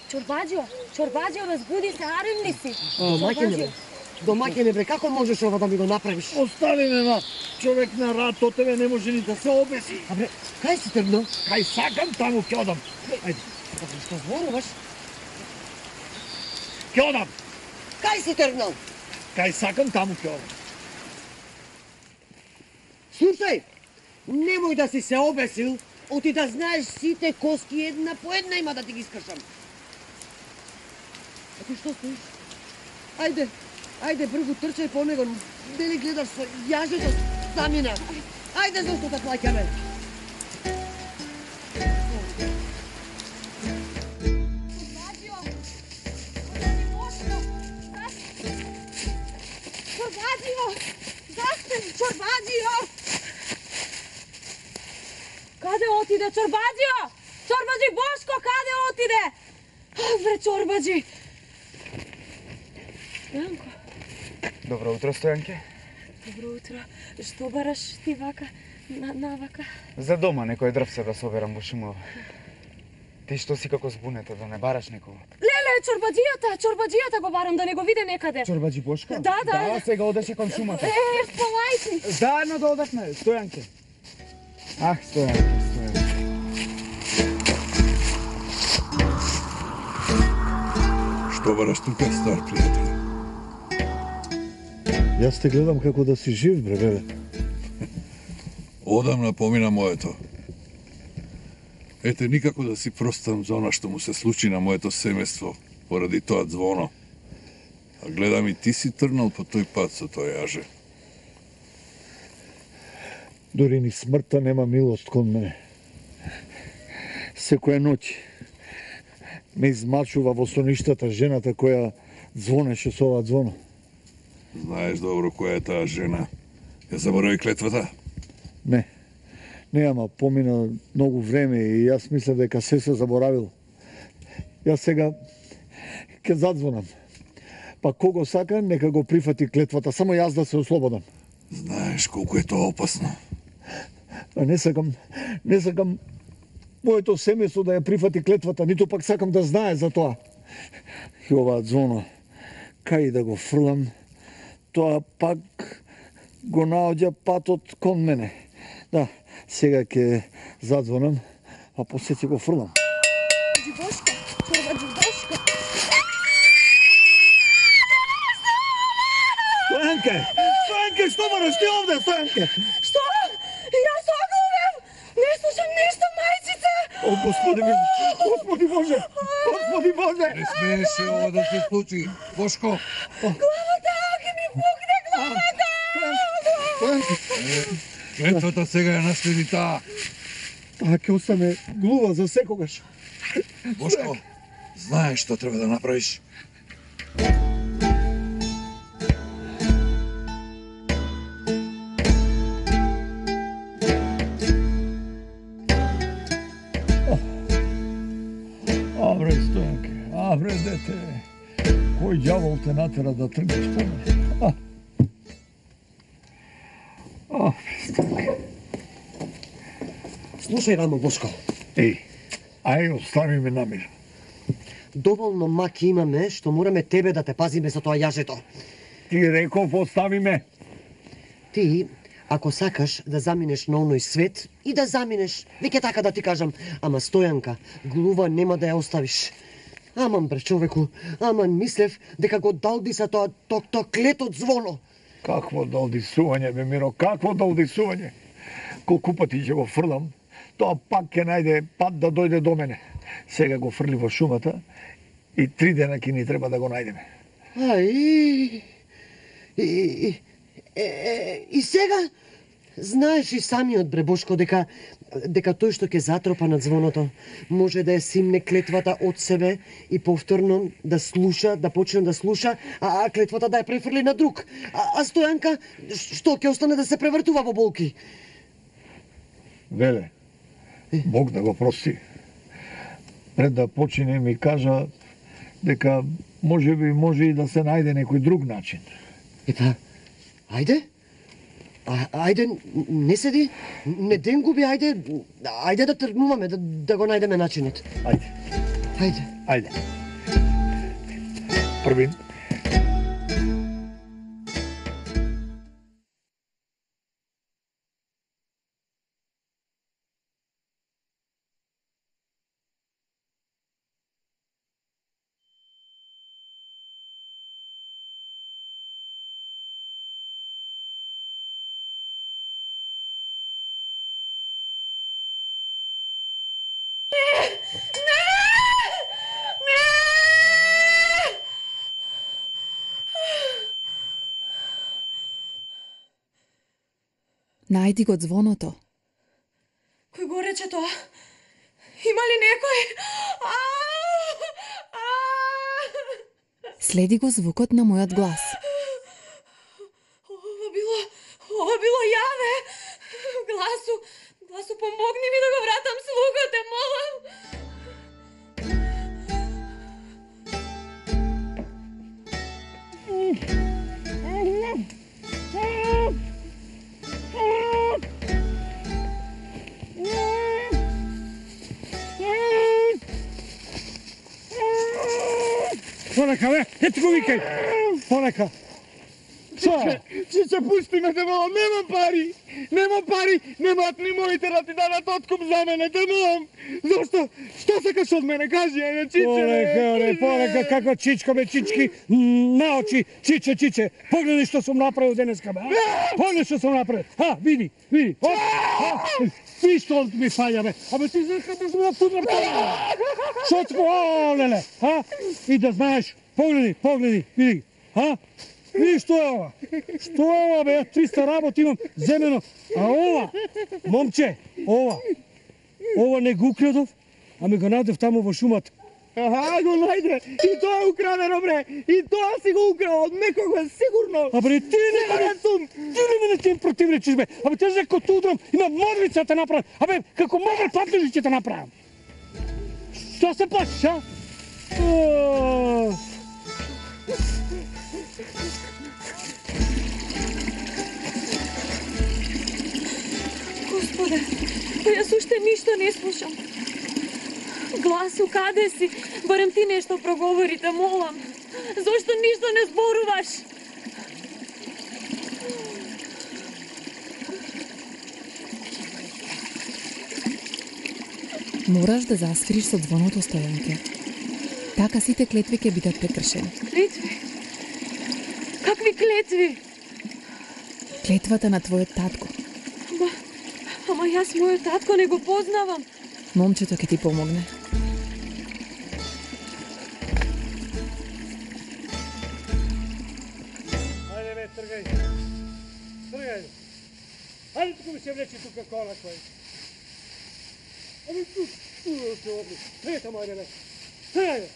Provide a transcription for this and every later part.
Чорбаџио, разбуди се, арен ли си? Маќене, домаќене бре, како можеш ова да ми го направиш? Остави ме, ма. Човек на рад од тебе не може ни да се обеси. А бре, кај си тргнал? Кај сакам, таму ќе одам. Ајде, што зборуваш? Ќе одам. Кај си тргнал? Кај сакам, таму ќе одам. Слушај, немој да си се обесил, оти да знаеш сите коски една по една има да ти ги искршам. А ти што стоиш? Ајде, бргу трчај по него, дали гледаш со јажето замина. Ајде, зашто те плаќаме? Чорбаџио! Каде отиде Чорбаџио? Чорбаџи Бошко, каде отиде? Бре, Чорбаџи! Стојанко. Добро утро, Стојанке. Добро утро. Што бараш ти вака, навака? За дома некој дрвце да соберам во шумова. Ти што си како збунета, да не бараш некого? Леле, чорбаџијата го барам да не го виде некаде. Чорбаџи Бошко? Да. Да, сега одеше кон шумата. Полајки. Заедно да одевме, Стојанке. Ах, Стојанке. Што бараш тука, стар пријател? Јас те гледам како да си жив, бре, веле. Одамна помина моето. Ете, никако да си простам за она што му се случи на моето семејство поради тоа звоно. А гледам и ти си трнал по тој пат со тоа јаже. Дори ни смртта нема милост кон мене. Секоја ноќ ме измачува во соништата жената која звонеше со ова звоно. Знаеш добро која е таа жена. Ја заборави клетвата? Не, ама помина многу време и јас мислев дека се заборавил. Јас сега ќе задзвонам. Па кого сака, нека го прифати клетвата, само јас да се ослободам. Знаеш колку е тоа опасно. А не сакам моето семејство да ја прифати клетвата, ниту пак сакам да знае за тоа. И ова звоно, кај да го фрлам, тоа пак го наоѓа патот кон мене. Да, сега ќе задзвонам, а после ќе го фрлам. Чорбаџи Бошко. Стојанке, што бараш ти овде, Стојанке? Што? Јас оглувам! Не слушам ништо, мајчице! О, Господи Боже! Не смееше ова да се случи. Бошко! Главата, ќе ми пукне главата! Клетвата сега ја наследи таа. Таа ќе остане глува за секогаш. Бошко, знаеш што треба да направиш? Абре, Стојанке, абре, дете. Кој ѓавол те натера да тргнеш по мене? Слушај, рамо, Бошко. Ај, остави ме на мир. Доволно маки имаме, што мораме тебе да те пазиме со тоа јажето. Ти реков, остави ме. Ти, ако сакаш да заминеш на оној свет, и да заминеш, веќе така да ти кажам, ама Стојанка, глува нема да ја оставиш. Аман, бре, човеку, аман мислев дека го далдиса тоа клетот звоно. Какво далдисување, бе, Миро, какво далдисување? Колку пати ќе го фрлам, тоа пак ќе најде пат да дојде до мене. Сега го фрли во шумата и 3 дена ќе ни треба да го најдеме. И сега, знаеш и самиот, бре, Бошко, дека тој што ќе затропа над звоното, може да ја симне клетвата од себе и повторно да слуша, да почне да слуша, а клетвата да ја префрли на друг. А Стојанка, што ќе остане да се превртува во болки? Веле, Бог да го прости. Пред да почине ми кажа дека може и да се најде некој друг начин. Епа, ајде? Ајде, не седи, не ден губи, ајде да тргнуваме, да го најдеме начинот. Ајде. Ајде. Ајде. Првин. Најди го звоното. Кој го рече тоа? Има ли некој? Следи го звукот на мојот глас. Ова било јаве. Гласу, помогни ми да го вратам слухот, те молам. Полека, бе, ето го викај. Полека. Чиче, пусти ме, те молам, немам пари, немаат ни моите да ти дадат откуп за мене, те молам. Зошто? Што сакаш од мене, кажи, ајде, Чиче, Полека, како чичко, бе, чички, наочи, Чиче, погледај што сум направил денеска, бе, погледај што сум направил, види, ви што ми фаља, бе, абе, ти знаеш како сум напуднар, што ти, леле, и да знаеш, погледај, види, види што е ова? Што е ова, бе? 300 работи имам земено. А ова, момче, ова не го украдов, а ми го најдев таму во шумата. Го најде. И тоа е украдено, бре. И тоа си го украл од некого, сигурно. Абе, ти не ти противречиш, бе. Абе, те за како удрам, има морвица те направам. Абе, како модер патлежи ќе те направам. Што се плачиш, а? Господе, јас уште ништо не слушам. Гласу, каде си? Барем ти нешто проговори, те молам. Зошто ништо не зборуваш? Мораш да засвириш со звоното, Стојанке. Така сите клетви ќе бидат прекршени. Клетви? Какви клетви? Клетвата на твојот татко. Ама јас мојот татко не го познавам. Момчето ќе ти помогне. Ајде, бе, тргај. Ајде, туку ми се влечи тука кола кој. Абе, тут се обли. Тргај тамо, ајде, бе. Тргај, бе.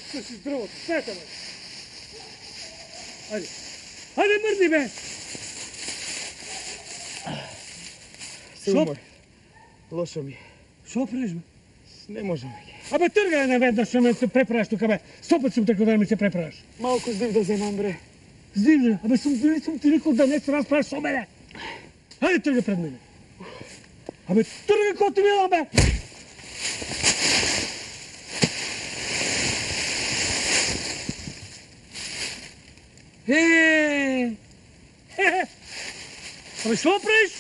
Скрши дрвото, тргај тамо. Ајде. Ајде, мрди, бе. Силно, лошо ми. Шо правиш, бе? Не можам. Абе, тргај не веднаш, што ме се преправаш тука, бе. 100 пат сум трекал да ми се преправаш. Малку здив да земам, бре. Здивле, абе, сум ти рекол да не се расправаш со мене. Ајде, тргај пред мене. Абе, тргај кој ти милам, бе. Абе, што правиш?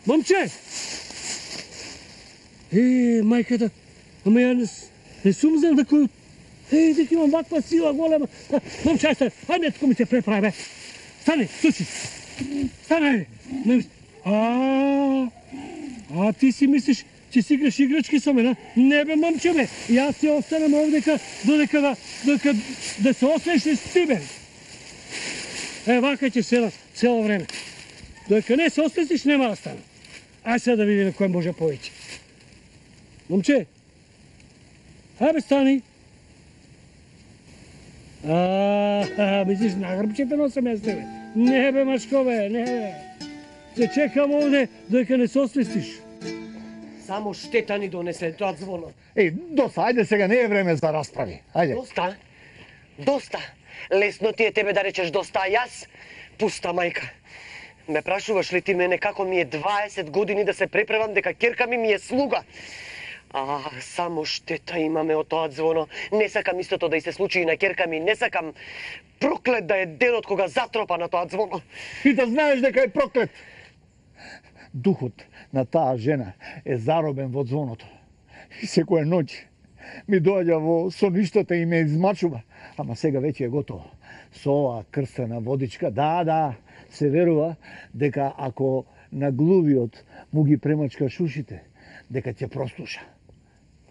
Момче! Мајката, ама ја не сум знал дека дека имам ваква сила голема. Момче, ајде, туку ми се преправи, бе. Стани, слуши. Стани, ајде. Ти си мислиш, че си играш играчки со мене? Не, бе, момче, бе. Јас си останам овдека додека да се освешиш с ти, бе. Вака ќе седам цело време. Додека не се освестиш, нема да стане. Ај сега да видиме кој може повеќе. Момче, ајде стани. Мислиш, на грбчето носам јас тебе? Не, бе, машко, бе, не, бе. Се чекам овде додека не се освестиш. Само штета ни донесе тоа звоно. Доста, ајде сега, не е време за расправи. Ајде. Доста. Лесно ти е тебе да речеш доста, а јас пуста мајка. Ме прашуваш ли ти мене како ми е 20 години да се преправам дека ќерка ми е слуга? Само штета имаме од тоа звоно. Не сакам истото да и се случи и на ќерка ми. Не сакам проклет да е денот кога затропа на тоа звоно. И да знаеш дека е проклет. Духот на таа жена е заробен во звоното. И секоја ноќ ми доаѓа во соништата и ме измачува. Ама сега веќе е готово. Со оваа крстена водичка, да, се верува дека ако на глувиот му ги премачкаш ушите, дека ќе прослуша.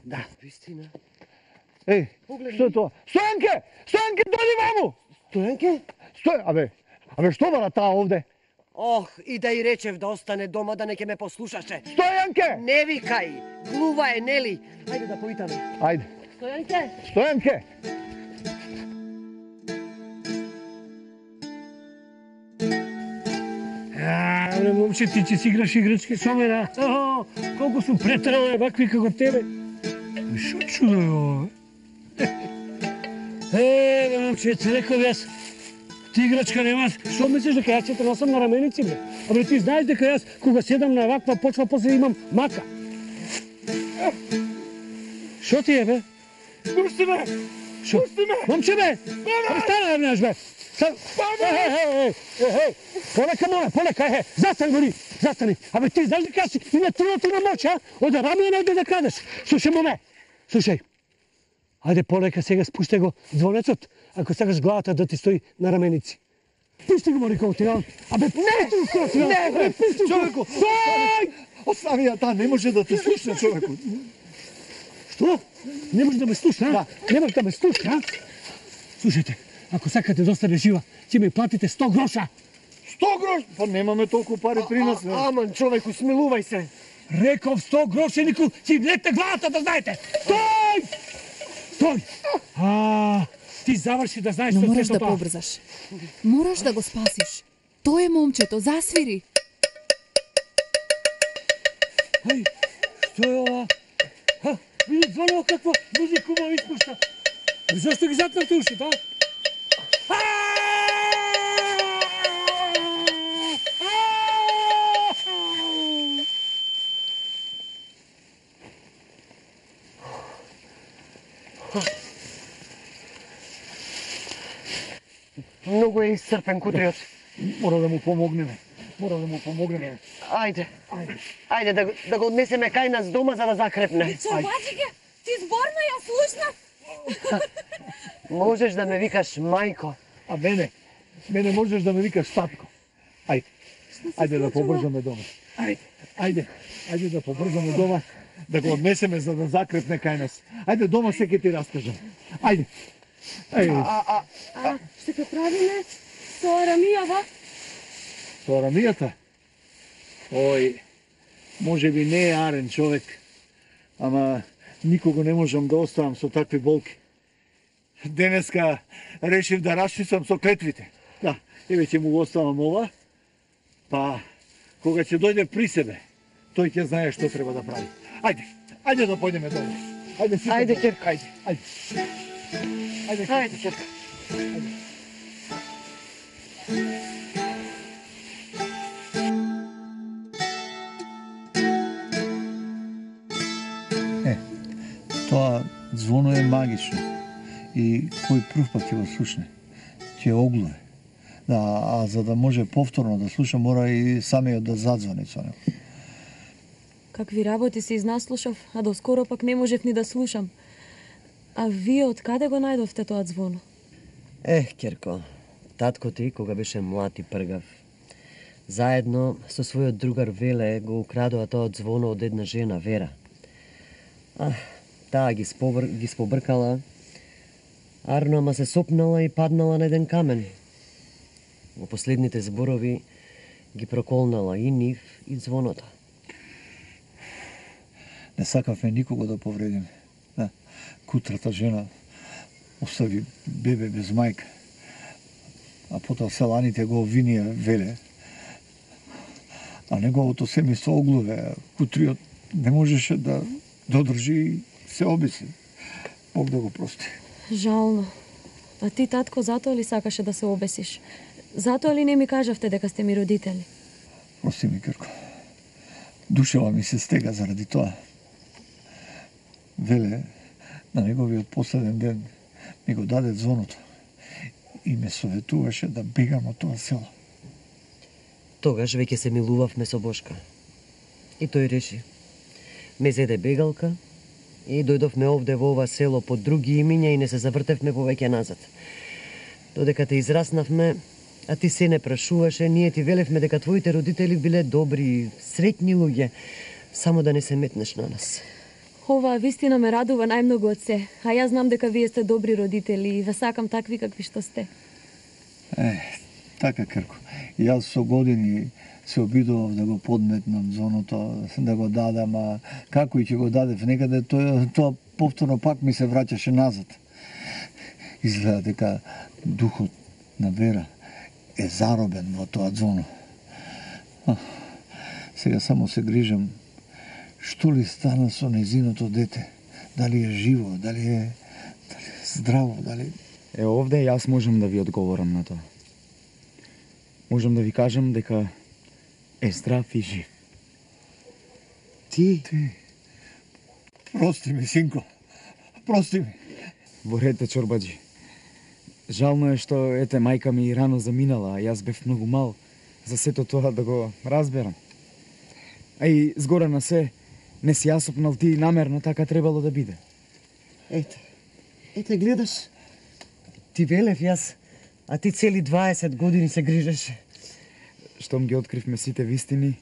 Да, вистина. Еј, што е тоа? Стојанке! Стојанке, дојди ваму! Стојанке? Абе, што бара таа овде? Ох, и да и речев да остане дома, да не ќе ме послушаше. Стојанке! Не викај! Глува е, нели? Ајде да поитаме. Ајде. Стојанке! Стојанке! Абе, момче, ти ќе си играш играчки со мене, колку сум претерал вакви како тебе. Шо чудо е ова? Бе, момче, ти реков јас, ти играчка немаш, што мислиш дека јас ќе те носам на раменици, бе? Абе, ти знаеш дека јас, кога седам на ваква почва, после имам мака. Шо ти е, бе? Пушти ме! Шо? Пушти ме! Момче, бе! Стана, бе, знаеш, бе! Полека, моля, полека, застани. Абе, ти знаеш дека си и на трилото на моќ, а? Оде раме не да крадеш. Слушај, моме, слушај. Ајде, полека, сега спуште го звонецот, ако сакаш главата да ти стои на раменици. Пусти го, Марико, ти дам. Абе, не, бе, човеку, стој! Остави ја таа, не може да те слушне, човеку. Што? Не може да ме слушне, а? Не може да ме слушне, а? Слушајте, ако сакате да остане жива, ќе ми платите 100 гроша. 100 грош? Па немаме толку пари при нас. Аман, човеку, смилувај се. Реков 100 грошенику, ќе лете главата да знаете. Стој! Ти заврши да знаеш Но што мораш се да тоа. побрзаш. Мораш да го спасиш. Тоа е момчето, засвири. Ај, што е ова? Види звоно каква музика ма испушта. Зашто ги затнавте ушите, а? Многу е исцрпен кутриот. Мора да му помогнеме. Ајде да го однесеме кај нас дома за да закрепне. Чорбачике, ти зборно ја слушна? Можеш да ме викаш мајко. А мене можеш да ме викаш татко. Ајде да побрзаме дома. Ајде да побрзаме дома, да го однесеме за да закрепне кај нас. Ајде дома се ќе ти раскажам. Ајде. Што ќе правиме со Арамијава? Со Арамијата? Ој, може би не е арен човек, ама никого не можам да оставам со такви болки. Денеска решив да расчистам со клетвите. Да, еве ќе му го оставам ова, па кога ќе дојде при себе, тој ќе знае што треба да прави. Ајде да појдеме долу. Ајде, ќерка. Ајде, ќерка. Тоа звоно е магично и кој прв пат ќе го слушне, ќе оглуе. Да, а за да може повторно да слуша, мора и самиот да задзвони со него. Какви работи се изнаслушав, а доскоро пак не можев ни да слушам. А вие од каде го најдовте тоа звоно? Ќерко, татко ти кога беше млад и пргав, заедно со својот другар Веле го украдоа тоа звоно од една жена, Вера. Таа ги спобркала, арно ама се сопнала и паднала на еден камен. Во последните зборови ги проколнала и нив и звоното. Не сакавме никого да повредиме. Да, кутрата жена остави бебе без мајка. А потоа селаните го обвинија Веле. А неговото семејство оглуве. Кутриот не можеше да одржи и се обиси. Бог да го прости. Жално. А ти, татко, затоа ли сакаше да се обесиш? Затоа ли не ми кажавте дека сте ми родители? Прости ми, Кирко. Душева ми се стега заради тоа. Веле, на неговиот последен ден ми го даде звоното и ме советуваше да бегам од тоа село. Тогаш веќе се милувавме со Бошка. И тој реши. Ме зеде бегалка и дојдовме овде во ова село под други имиња и не се завртевме повеќе назад. Додека те израснавме, а ти се не прашуваше, ние ти велевме дека твоите родители биле добри, среќни луѓе, само да не се метнеш на нас. Ова вистина ме радува најмногу од се, а јас знам дека вие сте добри родители и ве сакам такви какви што сте. Така, Крко. Јас со години се обидував да го подметнам звоното, да го дадам, а како и ќе го дадев некаде, тоа повторно пак ми се враќаше назад. Изгледа дека духот на Вера е заробен во тоа звоно. Сега само се грижам што ли стана со незиното дете. Дали е живо, дали е здраво, дали... Овде јас можам да ви одговорам на тоа. Можам да ви кажам дека е здрав и жив. Ти? Прости ми, синко. Прости ми. Во ред, чорбаджи. Жално е што ете мајка ми рано заминала, а јас бев многу мал за сето тоа да го разберам. А и згора на се, не си ја сопнал ти намерно, така требало да биде. Ете, гледаш. Ти велев јас, а ти цели 20 години се грижеше. Штом ги откривме сите вистини,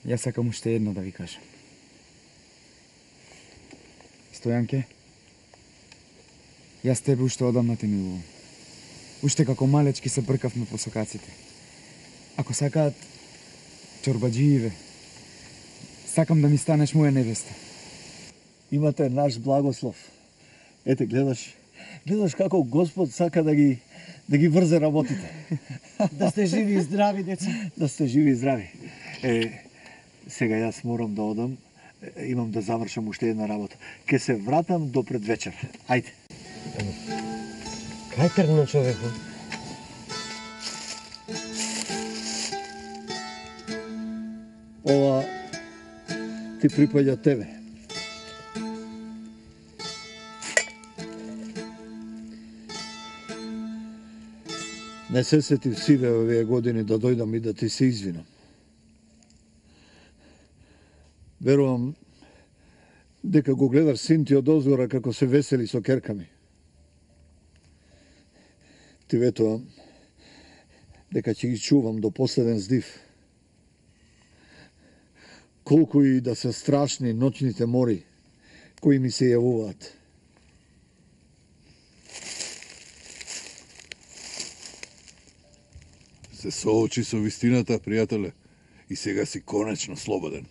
јас сакам уште едно да ви кажам. Стојанке, јас тебе уште одамна те милувам. Уште како малечки се бркавме по сокаците. Ако сакаат чорбаджииве, сакам да ми станеш моја невеста. Имате наш благослов. Ете, гледаш како Господ сака да ги врзе работите. Да сте живи и здрави, деца. Да сте живи и здрави. Сега јас морам да одам. Имам да завршам уште една работа. Ке се вратам до предвечер. Ајде. Кај тргна човеку? Ова ти припаѓа тебе. Не се сетив сиве овие години да дојдам и да ти се извинам. Верувам дека го гледаш син ти од озгора како се весели со керка ми. Ти ветувам дека ќе ги чувам до последен здив. Колку и да се страшни ноќните мори кои ми се јавуваат. Се соочи со вистината, пријателе, и сега си конечно слободен.